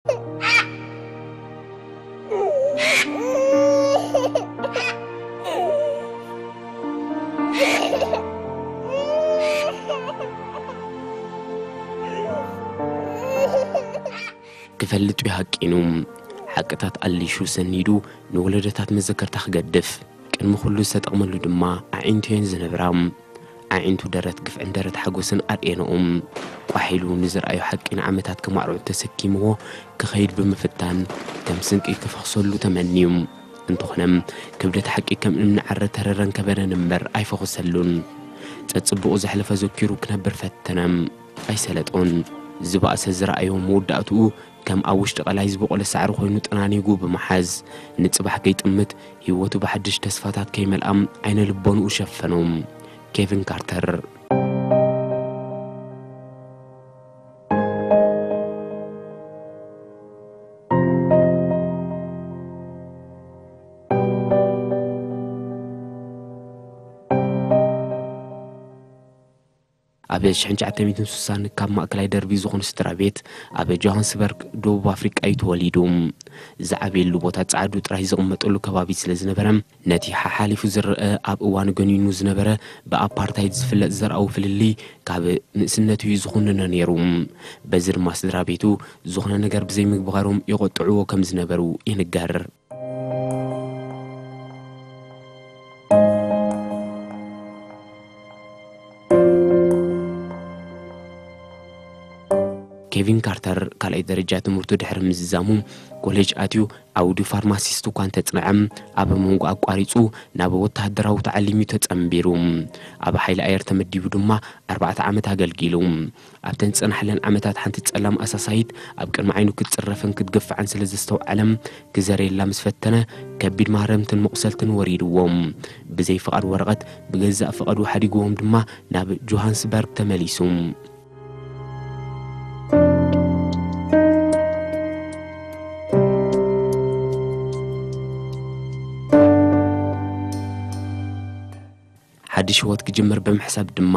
ክፈልጥ ይሃቂኑ። ሓቅታት ኣሊሹ ሰኒዱ ንወለዶታት መዘከርታ ክገድፍ ቅድሚ ኩሉ ዝተጠቕመሉ ድማ ኣዒንቱ እየን ዝነብራ። ኣዒንቱ ደረት ግፍዕን ደረት ሓጎስን ኣርእየንኦም። ቋሕ ኢሉ ንዝረኣዮ ሓቂ ንዓመታት ከማዕርዑ ተሰኪምዎ ክኸይድ ብምፍታን ከም ስንቂ ክፈኽሰሉ ተመንዩ። እንተኾነ ክብደት ሓቂ ከም እምኒ ዓረ ተረረን ከበደን እምበር ኣይፈኹሰሉን። ጸጽቡቑ ዘሕለፈ ዘኪሩ ክነብር ፈተነ። ኣይሰለጦን። ዝበኣሰ ዝረኣዮ መወዳእትኡ ከም ኣብ ውሽጢ ቀላይ ዝበቖለ ሳዕሪ ኮይኑ ጠናኒጉ ብምሓዝ ንጽባሕ ከይጥምት ህይወቱ ብሓድሽ ተስፋታት ከይመልኣም ዓይነ ልቦንኡ ሸፈኖም። ኬቪን ካርተር። ኣብ ሽሕን ትሽዓተ ሚእትን ስሳን ካብ ማእከላይ ደርቢ ዝኾኑ ስድራ ቤት ኣብ ጆሃንስበርግ ደቡብ ኣፍሪቃ እዩ ተወሊዱ። ዝዓብየሉ ቦታ ጻዕዱ ጥራይ ዝቕመጠሉ ከባቢ ስለ ዝነበረ ነቲ ሓሓሊፉ ዝረአ ኣብ እዋን ገኒኑ ዝነበረ ብኣፓርታይድ ዝፍለጥ ዘርኣዊ ፍልልይ ካብ ንእስነቱ እዩ ዝኹንኖ ነይሩ። በዚ ድማ ስድራ ቤቱ ዝኾነ ነገር ብዘይምግባሮም ይቆጥዕዎ ከም ዝነበሩ ይንገር። ኬቪን ካርተር ካልኣይ ደረጃ ትምህርቱ ድሕሪ ምዝዛሙ ኮሌጅ ኣትዩ ዓውዲ ፋርማሲስት እኳ እንተጽንዐ ኣብ መንጎ ኣቋሪጹ ናብ ወተሃደራዊ ተዓሊም እዩ ተጸንቢሩ። ኣብ ሓይሊ ኣየር ተመዲቡ ድማ ኣርባዕተ ዓመት ኣገልጊሉ። ኣብተን ዝጸናሕለን ዓመታት ሓንቲ ጸላም ኣሳሳይት ኣብ ቅድሚ ዓይኑ ክትጽረፍን ክትግፋዕን ስለ ዘስተውዓለ ክዘርየላ ምስ ፈተነ ከቢድ ማህረምትን መቑሰልትን ወሪድዎም። ብዘይ ፍቓድ ወረቐት ብገዛእ ፍቓዱ ሓዲግዎም ድማ ናብ ጆሃንስበርግ ተመሊሱ። ሓድሽ ህይወት ክጅምር ብምሕሳብ ድማ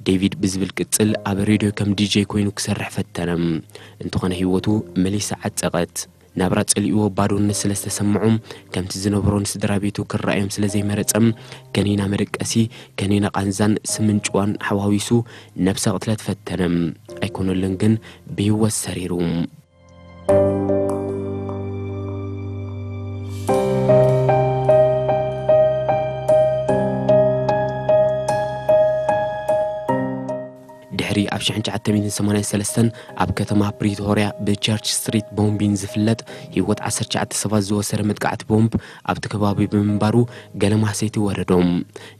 ዴቪድ ብዝብል ቅጽል ኣብ ሬድዮ ከም ዲጄ ኮይኑ ክሰርሕ ፈተነ። እንተኾነ ህይወቱ መሊሳ ዓጸቐት። ናብራ ጸሊእዎ ባዶነት ስለ ዝተሰምዖ ከምቲ ዝነበሮ ንስድራ ቤቱ ክረኣዮም ስለ ዘይመረጸ ከኒና መደቀሲ፣ ከኒና ቃንዛን ስምንጭዋን ሓዋዊሱ ነብሰ ቅትለት ፈተነ። ኣይኮነሉን ግን ብህይወት ሰሪሩ። ድሕሪ ኣብ ሽሕን ትሽዓተ ሚእትን ሰማንያን ሰለስተን ኣብ ከተማ ፕሪቶርያ ብቸርች ስትሪት ቦምቢን ዝፍለጥ ህይወት ዓሰርተ ትሽዓተ ሰባት ዝወሰደ መጥቃዕቲ ቦምብ ኣብቲ ከባቢ ብምንባሩ ገለ ማህሰይቲ ወረዶም።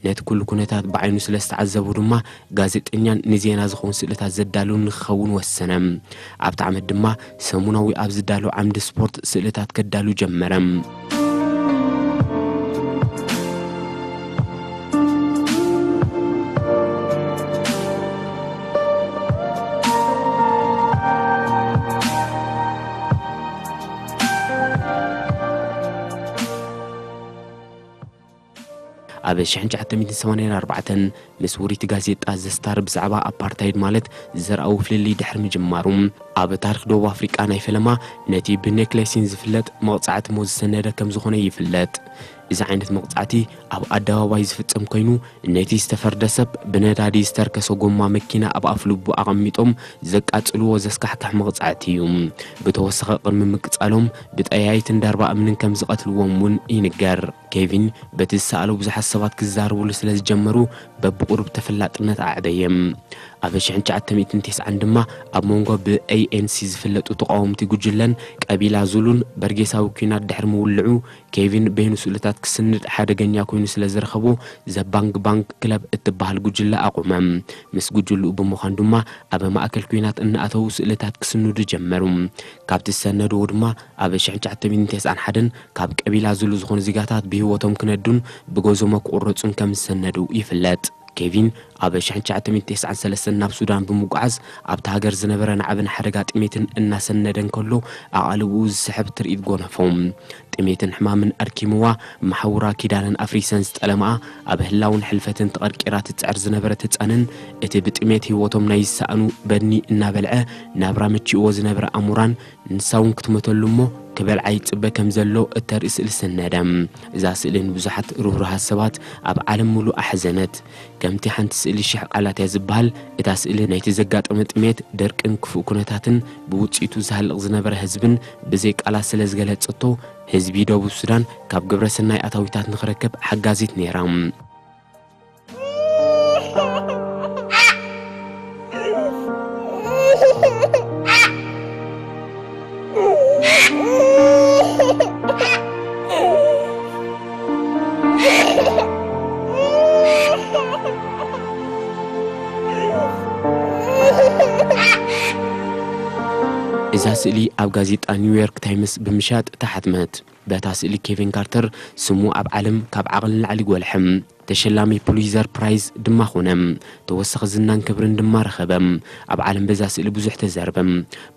ነቲ ኩሉ ኩነታት ብዓይኑ ስለ ዝተዓዘቡ ድማ ጋዜጠኛን ንዜና ዝኸውን ስእልታት ዘዳሉን ንክኸውን ወሰነ። ኣብቲ ዓመት ድማ ሰሙናዊ ኣብ ዝዳሎ ዓምዲ ስፖርት ስእልታት ከዳሉ ጀመረ። ኣብ ሽሕን ትሽዓተ ሚእትን ሰማንያን ኣርባዕተን ምስ ውሪት ጋዜጣ ዘስታር ብዛዕባ ኣፓርታይድ ማለት ዘርኣዊ ፍልልይ ድሕሪ ምጅማሩ ኣብ ታሪኽ ደቡብ ኣፍሪቃ ናይ ፈለማ ነቲ ብኔክሌሲን ዝፍለጥ መቕጻዕቲ ሞት ዝሰነደ ከም ዝኾነ ይፍለጥ። እዚ ዓይነት መቕጻዕቲ ኣብ ኣደባባይ ዝፍጸም ኮይኑ ነቲ ዝተፈርደ ሰብ ብነዳዲ ዝተርከሰ ጎማ መኪና ኣብ ኣፍ ልቡ ኣቐሚጦም ዘቃጽልዎ ዘስካሕክሕ መቕጻዕቲ እዩ። ብተወሰኸ ቅድሚ ምቅጻሎም ብጠያይትን ዳርባ እምንን ከም ዝቐትልዎም እውን ይንገር። ኬቪን በቲ ዝሰኣሎ ብዙሓት ሰባት ክዛረብሉ ስለ ዝጀመሩ በብቑሩብ ተፈላጥነት ኣዕበየ። ኣብ ሽሕን ትሽዓተ ሚእትን ተስዓን ድማ ኣብ መንጎ ብኤ ኤን ሲ ዝፍለጡ ተቓወምቲ ጉጅለን ቀቢላ ዙሉን በርጌሳዊ ኲናት ድሕሪ ምውልዑ ኬቪን በይኑ ስእልታት ክስንድ ሓደገኛ ኮይኑ ስለ ዝረኸቦ ዘባንግ ባንግ ክለብ እትበሃል ጉጅለ ኣቑመ። ምስ ጉጅልኡ ብምዃን ድማ ኣብ ማእከል ኲናት እናኣተዉ ስእልታት ክስንዱ ጀመሩ። ካብቲ ዝሰነድዎ ድማ ኣብ ሽሕን ትሽዓተ ሚእትን ተስዓን ሓደን ካብ ቀቢላ ዙሉ ዝኾኑ ዜጋታት ብህይወቶም ክነዱን ብጎዞሞ ክቑረጹን ከም ዝሰነዱ ይፍለጥ። ኬቪን ኣብ ሽሕን ትሽዓተ ሚእትን ተስዓን ሰለስተን ናብ ሱዳን ብምጉዓዝ ኣብቲ ሃገር ዝነበረ ናዕብን ሓደጋ ጥሜትን እናሰነደ እንከሎ ኣቓልብኡ ዝስሕብ ትርኢት ጎነፎ። ጥሜትን ሕማምን ኣድኪምዋ፣ መሓውራ ኪዳነን ኣፍሪሰን ዝጠለምኣ፣ ኣብ ህላውን ሕልፈትን ተቐርቂራ ትጽዕር ዝነበረት ህጻንን እቲ ብጥሜት ህይወቶም ናይ ዝሰኣኑ በድኒ እናበልዐ ናብራ መቺእዎ ዝነበረ ኣሙራን ንሳ እውን ክትመተሉ እሞ ክበልዓ ይጽበ ከም ዘሎ እተርኢ ስእሊ ሰነደ። እዛ ስእሊ ንብዙሓት ርህሩሃት ሰባት ኣብ ዓለም ምሉእ ኣሕዘነት። ከምቲ ሓንቲ ስእሊ ሽሕ ቃላት እያ ዝበሃል፣ እታ ስእሊ ናይቲ ዘጋጠመ ጥሜት፣ ደርቅን ክፉእ ኩነታትን ብውጽኢቱ ዝሃልቕ ዝነበረ ህዝብን ብዘይ ቃላት ስለ ዝገለጸቶ፣ ህዝቢ ደቡብ ሱዳን ካብ ግብረ ሰናይ ኣታዊታት ንኽረክብ ሓጋዚት ነይራ። እዛ ስእሊ ኣብ ጋዜጣ ኒውዮርክ ታይምስ ብምሻጥ ተሓትመት። በታ ስእሊ ኬቪን ካርተር ስሙ ኣብ ዓለም ካብ ዓቕሊ ንላዕሊ ጎልሐ። ተሸላሚ ፑሊዘር ፕራይዝ ድማ ኾነ። ተወሳኺ ዝናን ክብርን ድማ ረኸበ። ኣብ ዓለም በዛ ስእሊ ብዙሕ ተዛረበ።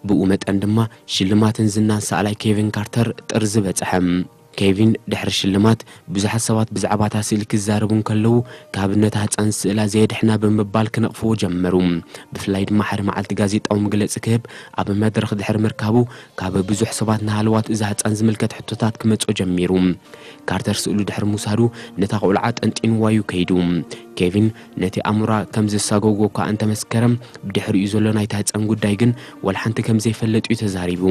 ብኡ መጠን ድማ ሽልማትን ዝናን ሰኣላይ ኬቪን ካርተር ጥርዚ በጽሐ። ኬቪን ድሕሪ ሽልማት ብዙሓት ሰባት ብዛዕባ እታ ስእሊ ክዛረቡ እንከለዉ፣ ካብ ነታ ህጻን ስእላ ዘየድሕና ብምባል ክነቕፍዎ ጀመሩ። ብፍላይ ድማ ሓደ መዓልቲ ጋዜጣዊ መግለጺ ክህብ ኣብ መድረኽ ድሕሪ ምርካቡ፣ ካብ ብዙሕ ሰባት ንሃለዋት እዛ ህጻን ዝምልከት ሕቶታት ክመጾ ጀሚሩ። ካርተር ስእሉ ድሕሪ ምውሳዱ ነታ ቆልዓ ጠንጢንዋ እዩ ከይዱ። ኬቪን ነቲ ኣሙራ ከም ዘሳጎጎ እኳ እንተመስከረ፣ ብድሕሪኡ ዘሎ ናይታ ህጻን ጉዳይ ግን ወላ ሓንቲ ከም ዘይፈለጥ እዩ ተዛሪቡ።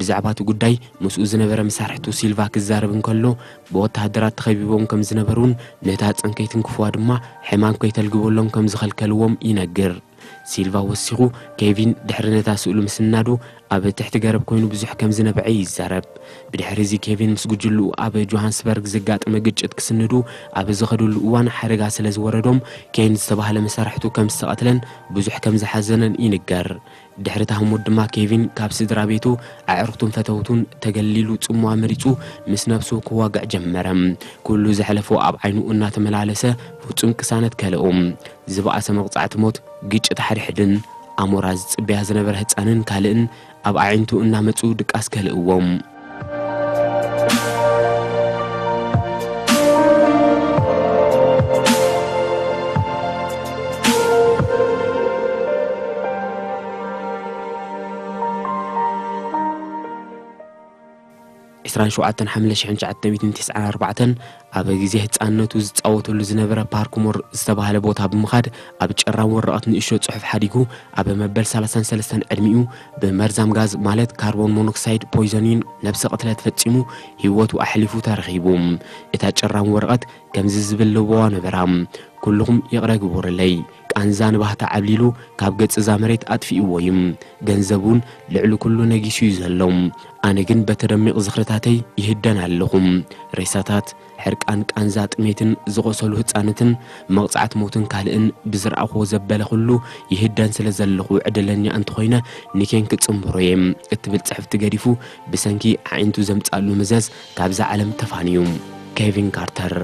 ብዛዕባ እቲ ጉዳይ ምስኡ ዝነበረ መሳርሕቱ ሲልቫ ክዛረብ እንከሎ፣ ብወተሃደራት ተኸቢቦም ከም ዝነበሩን ነታ ህጻን ከይትንክፍዋ ድማ ሕማም ከይተልግበሎም ከም ዝኸልከልዎም ይነግር። ሲልቫ ወሲኹ፣ ኬቪን ድሕሪ ነታ ስእሉ ምስናዱ ኣብ ትሕቲ ገረብ ኮይኑ ብዙሕ ከም ዝነበዐ ይዛረብ። ብድሕሪ እዚ ኬቪን ምስ ጉጅልኡ ኣብ ጆሃንስበርግ ዘጋጠመ ግጭት ክስንዱ ኣብ ዝኸድሉ እዋን ሓደጋ ስለ ዝወረዶም፣ ኬን ዝተባህለ መሳርሕቱ ከም ዝተቐትለን ብዙሕ ከም ዝሓዘነን ይንገር። ድሕሪ እታ ህሞት ድማ ኬቪን ካብ ስድራ ቤቱ፣ ኣዕሩኽቱን ፈተውቱን ተገሊሉ ጽምዋ መሪጹ ምስ ነብሱ ክዋጋእ ጀመረ። ኩሉ ዘሕለፎ ኣብ ዓይኑ እናተመላለሰ ፍጹም ቅሳነት ከልኦ። ዝበኣሰ መቕጻዕቲ ሞት፣ ግጭት ሓድሕድን ኣሞራ ዝጽበያ ዝነበረ ህጻንን ካልእን ኣብ ኣዒንቱ እናመጹ ድቃስ ከልእዎም። ዕስራን ሸውዓተን ሓምለ ሽሕን ትሽዓተ ሚእትን ተስዓን ኣርባዕተን ኣብ ግዜ ህጻንነቱ ዝጻወተሉ ዝነበረ ፓርክ ሞር ዝተባህለ ቦታ ብምኻድ ኣብ ጨራም ወረቐት ንእሽቶ ጽሑፍ ሓዲጉ ኣብ መበል ሰላሳን ሰለስተን ዕድሚኡ ብመርዛም ጋዝ ማለት ካርቦን ሞኖክሳይድ ፖይዘኒን ነብሰ ቅትለት ፈጺሙ ህይወቱ ኣሕሊፉ ተረኺቡ። እታ ጨራም ወረቐት ከምዚ ዝብል ለበዋ ነበራ። ኩልኹም ይቕረ ግበሩለይ። ቃንዛ ንባህታ ዓብሊሉ ካብ ገጽ እዛ መሬት ኣጥፊእዎ እዩ። ገንዘብ እውን ልዕሊ ኩሉ ነጊሱ እዩ ዘሎ። ኣነ ግን በቲ ደሚቕ ዝኽርታተይ ይህደን ኣለኹ። ሬሳታት፣ ሕርቃን፣ ቃንዛ፣ ጥሜትን ዝቖሰሉ ህጻናትን፣ መቕጻዕቲ ሞትን ካልእን ብዝረኣኹዎ ዘበለ ኩሉ ይህደን ስለ ዘለኹ ዕድለኛ እንተኾይነ ንኬን ክጽንብሮ እየ እትብል ጽሕፍቲ ገዲፉ ብሰንኪ ኣዒንቱ ዘምጻሉ መዘዝ ካብዛ ዓለም ተፋንዩ። ኬቪን ካርተር።